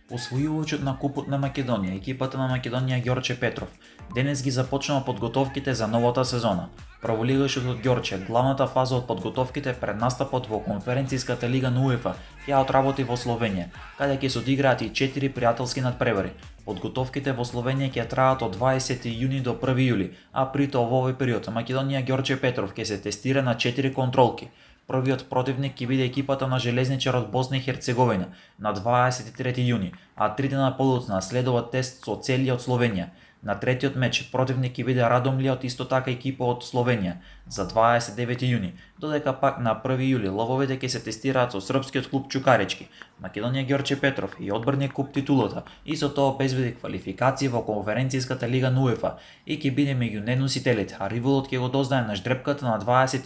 Освојувачот на Купот на Македонија, екипата на Македонија Ѓорче Петров, денес ги започнува подготовките за новата сезона. Праволигашот од Ѓорче, главната фаза од подготовките пред настапот во конференцијската лига на УЕФА ја отработи во Словенија, каде ќе се одиграат и 4 пријателски надпревари. Подготовките во Словенија ќе траат од 20 јуни до 1 јули, а при тоа во овој период Македонија Ѓорче Петров ќе се тестира на 4 контролки. Првиот противник ќе биде екипата на Железничарот Босна и Херцеговина на 23 јуни, а 3 дена подоцна следува тест со Целје од Словенија. На третиот меч противник ќе биде Радомле од исто така екипа од Словенија за 29 јуни, додека пак на 1 јули лововите ќе се тестираат со српскиот клуб Чукарички. Македонија Ѓорче Петров и одбрани куп титулата и со тоа обезбеди квалификација во конференцијската лига на УЕФА и ќе биде меѓу неносителите, а ривалот ќе го дознае на ждрепката на 20